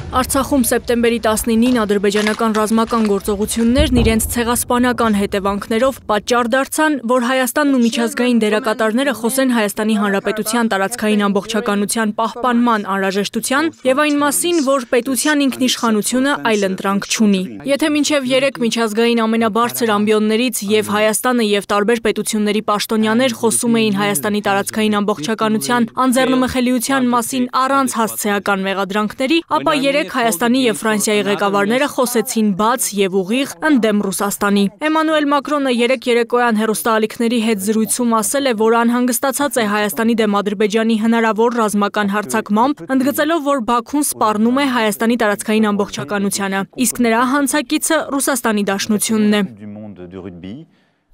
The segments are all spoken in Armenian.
Արցախում սեպտեմբերի 19-ին ադրբեջանական ռազմական գործողություններն իրենց ցեղասպանական հետևանքներով պատճառ դարձան, որ Հայաստանն ու միջազգային դերակատարները խոսեն Հայաստանի Հանրապետության տարածքային ամբողջականության պահպանման անհրաժեշտության եւ այն մասին, որ պետության ինքնիշխանությունը այլընտրանք չունի։ Եթե մինչև 3 միջազգային ամենաբարձր ամբիոններից եւ Հայաստանը եւ տարբեր պետությունների պաշտոնյաներ խոսում էին Հայաստանի տարածքային ամբողջականության անձեռնմխելիության մասին առանց հասցեական մեղադրանքների, ապա Հայաստանի եւ Ֆրանսիայի ղեկավարները խոսեցին բաց եւ ուղիղ ընդդեմ Ռուսաստանի։ Էմանուել Մակրոնը երեկ երեկոյան հեռուստաալիքների հետ զրույցում ասել է, որ անհանգստացած է Հայաստանի դեմ Ադրբեջանի հնարավոր ռազմական հարձակմամբ, ընդգծելով, որ Բաքուն սպառնում է Հայաստանի տարածքային ամբողջականությանը, իսկ նրա հանցակիցը Ռուսաստանի Դաշնությունն է։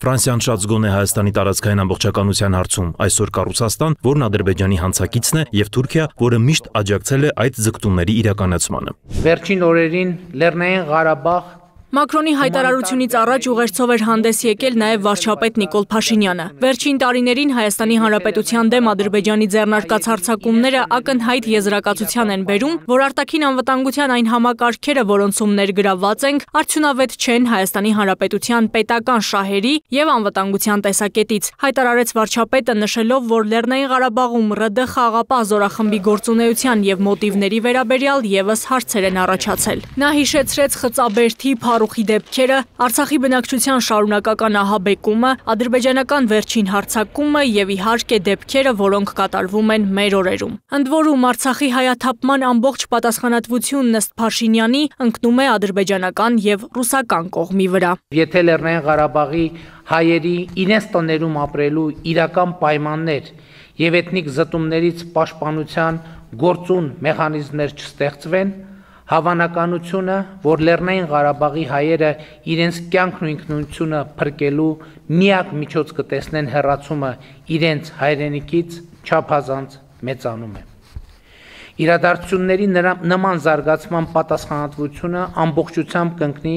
Ֆրանսիան շատ զգոն է Հայաստանի տարածքային ամբողջականության հարցում, այսօր կա Ռուսաստան, որն Ադրբեջանի հանցակիցն է, եւ Թուրքիա, որը միշտ աջակցել է այդ ձգտումների իրականացմանը։ Վերջին օրերին Լեռնային Ղարաբաղ Մակրոնի հայտարարությունից առաջ ուղերձով էր հանդես եկել նաև վարչապետ Նիկոլ Փաշինյանը։ Վերջին տարիներին Հայաստանի Հանրապետության դեմ Ադրբեջանի ձեռնարկած հարձակումները ակնհայտ եզրակացության են բերում, որ արտաքին անվտանգության այն համակարգերը, որոնցում ներգրավված ենք, արդյունավետ չեն Հայաստանի Հանրապետության պետական շահերի եւ անվտանգության տեսակետից, հայտարարեց վարչապետը, նշելով, որ Լեռնային Ղարաբաղում ՌԴ խաղաղապահ զորախմբի գործունեության եւ մոտիվների վերաբերյալ եւս հարցեր են առաջացել։ Նա հիշեցրեց Խծաբերդի Փարուխի դեպքերը, Արցախի բնակչության շարունակական ահաբեկումը, ադրբեջանական վերջին հարձակումը եւ իհարկե դեպքերը, որոնք կատարվում են մեր օրերում։ Ընդ որում Արցախի հայաթափման ամբողջ պատասխանատվությունն ըստ Փաշինյանի ընկնում է ադրբեջանական եւ ռուսական կողմի վրա։ Եթե Լեռնային Ղարաբաղի հայերի իրենց տներում ապրելու իրական պայմաններ եւ էթնիկ զտումներից պաշտպանության գործուն մեխանիզմներ չստեղծվեն, հավանականությունը, որ Լեռնային Ղարաբաղի հայերը իրենց կյանքն ու ինքնությունը փրկելու միակ միջոց կտեսնեն հեռացումը իրենց հայրենիքից, չափազանց մեծանում է։ Իրադարձությունների նման զարգացման պատասխանատվությունը ամբողջությամբ կընկնի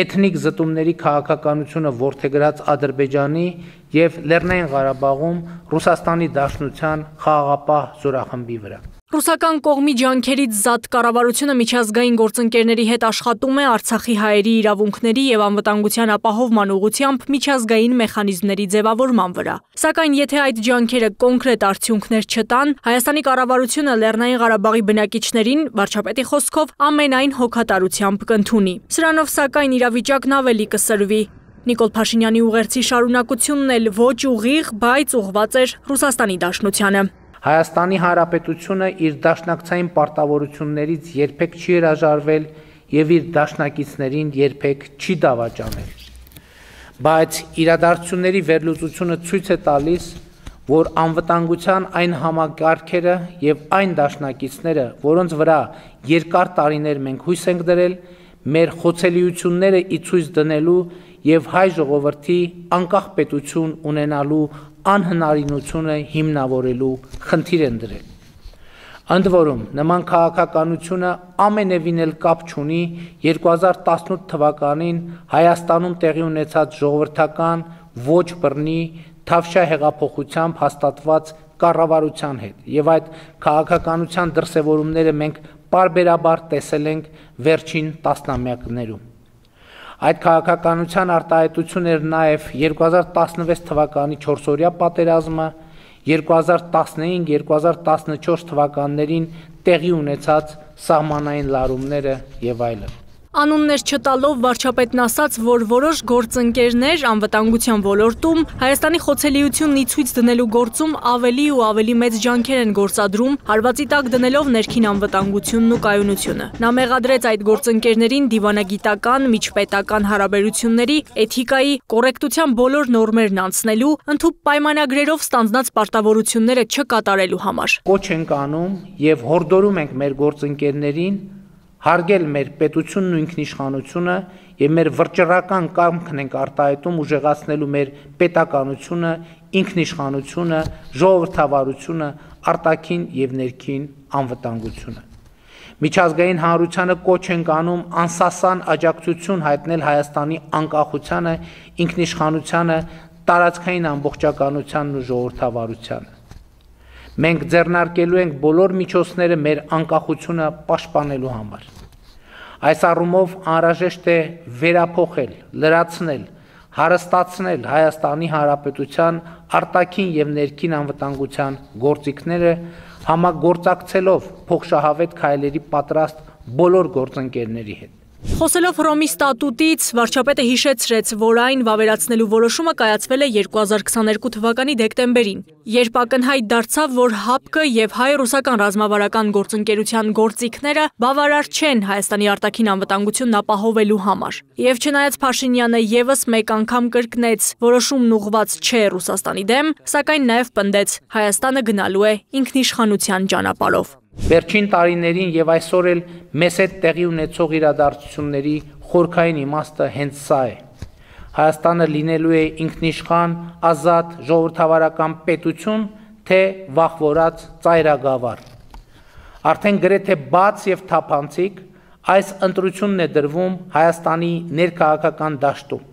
էթնիկ զտումների քաղաքականությունը որդեգրած Ադրբեջանի եւ Լեռնային Ղարաբաղում Ռուսաստանի Դաշնության խաղաղապահ զորախմբի վրա։ Ռուսական կողմի ջանքերից զատ կառավարությունը միջազգային գործընկերների հետ աշխատում է Արցախի հայերի իրավունքների եւ անվտանգության ապահովման ուղղությամբ միջազգային մեխանիզմների ձևավորման վրա։ Սակայն եթե այդ ջանքերը կոնկրետ արդյունքներ չտան, Հայաստանի կառավարությունը Լեռնային Ղարաբաղի բնակիչներին, վարչապետի խոսքով, ամենայն հոգատարությամբ կընդունի։ Սրանով սակայն իրավիճակն ավելի կսրվի։ Նիկոլ Փաշինյանի ուղերձի շարունակությունն էլ ոչ ուղիղ, բայց ուղղված էր Ռուսաստանի Դաշնությանը։ Հայաստանի Հանրապետությունը իր դաշնակցային պարտավորություններից երբեք չի հրաժարվել եւ իր դաշնակիցներին երբեք չի դավաճանել։ Բայց իրադարձությունների վերլուծությունը ցույց է տալիս, որ անվտանգության այն համակարգերը եւ այն դաշնակիցները, որոնց վրա երկար տարիներ մենք հույս ենք դրել, մեր խոցելիությունները ի ցույց դնելու եւ հայ ժողովրդի անկախ պետություն ունենալու անհնարինությունը հիմնավորելու խնդիր են դրել։ Ընդ որում, նման քաղաքականությունը ամենևին էլ կապ չունի 2018 թվականին Հայաստանում տեղի ունեցած ժողովրդական ոչ բռնի Թավշյա հեղափոխությամբ հաստատված կառավարության հետ, եւ այդ քաղաքականության դրսևորումները մենք պարբերաբար տեսել ենք վերջին տասնամյակներում։ Այդ քաղաքականության արտահայտություն էր նաև 2016 թվականի 4-օրյա պատերազմը, 2015-2014 թվականներին տեղի ունեցած սահմանային լարումները եւ այլն։ Անուններ չտալով վարչապետն ասաց, որ որոշ գործընկերներ անվտանգության ոլորտում Հայաստանի խոցելիությունն ի ցույց դնելու գործում ավելի ու ավելի մեծ ջանքեր են գործադրում, հարվածի տակ դնելով ներքին անվտանգությունն ու կայունությունը։ Նա մեղադրեց այդ գործընկերներին դիվանագիտական, միջպետական հարաբերությունների, էթիկայի, կոռեկտության բոլոր նորմերն անցնելու, ընդհանուր պայմանագրերով ստանձնած պարտավորությունները չկատարելու համար։ Կոչ ենք անում եւ հորդորում ենք մեր գործընկերներին հարգել մեր պետությունն ու ինքնիշխանությունը եւ մեր վճռական կամքն ենք արտահայտում ուժեղացնելու մեր պետականությունը, ինքնիշխանությունը, ժողովրդավարությունը, արտաքին եւ ներքին անվտանգությունը։ Միջազգային հանրությանը կոչ ենք անում անսասան աջակցություն հայտնել Հայաստանի անկախությանը, ինքնիշխանությանը, տարածքային ամբողջականությանն ու ժողովրդավարությանը։ Մենք ձեռնարկելու ենք բոլոր միջոցները մեր անկախությունը պաշտպանելու համար։ Այս առումով անհրաժեշտ է վերափոխել, լրացնել, հարստացնել Հայաստանի Հանրապետության արտաքին եւ ներքին անվտանգության գործիքները, համագործակցելով փոխշահավետ քայլերի պատրաստ բոլոր գործընկերների հետ։ Խոսելով Հռոմի ստատուտից, վարչապետը հիշեցրեց, որ այն վավերացնելու որոշումը կայացվել է 2022 թվականի դեկտեմբերին, երբ ակնհայտ դարձավ, որ ՀԱՊԿ եւ հայ-ռուսական ռազմավարական գործընկերության գործիքները բավարար չեն Հայաստանի արտաքին անվտանգությունն ապահովելու համար։ Եվ չնայած Փաշինյանը եւս մեկ անգամ կրկնեց, որոշումն ուղղված չէ Ռուսաստանի դեմ, սակայն նաեւ պնդեց, Հայաստանը գնալու է ինքնիշխանության ճանապարհով։ Վերջին տարիներին եւ այսօր էլ մեզ հետ տեղի ունեցող իրադարձությունների խորքային իմաստը հենց սա է։ Հայաստանը լինելու է ինքնիշխան, ազատ, ժողովրդավարական պետություն, թե վախվորած ծայրագավառ։ Արդեն գրեթե բաց եւ թափանցիկ այս ընտրությունն է դրվում Հայաստանի ներքաղաքական դաշտում,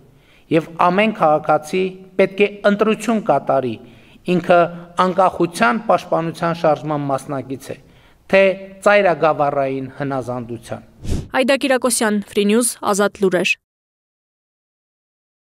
եւ ամեն քաղաքացի պետք է ընտրություն կատարի, ինքը անկախության պաշտպանության շարժման մասնակից է, թե ծայրագավառային հնազանդության։ Այդա Կիրակոսյան, Free News, Ազատ լուրեր։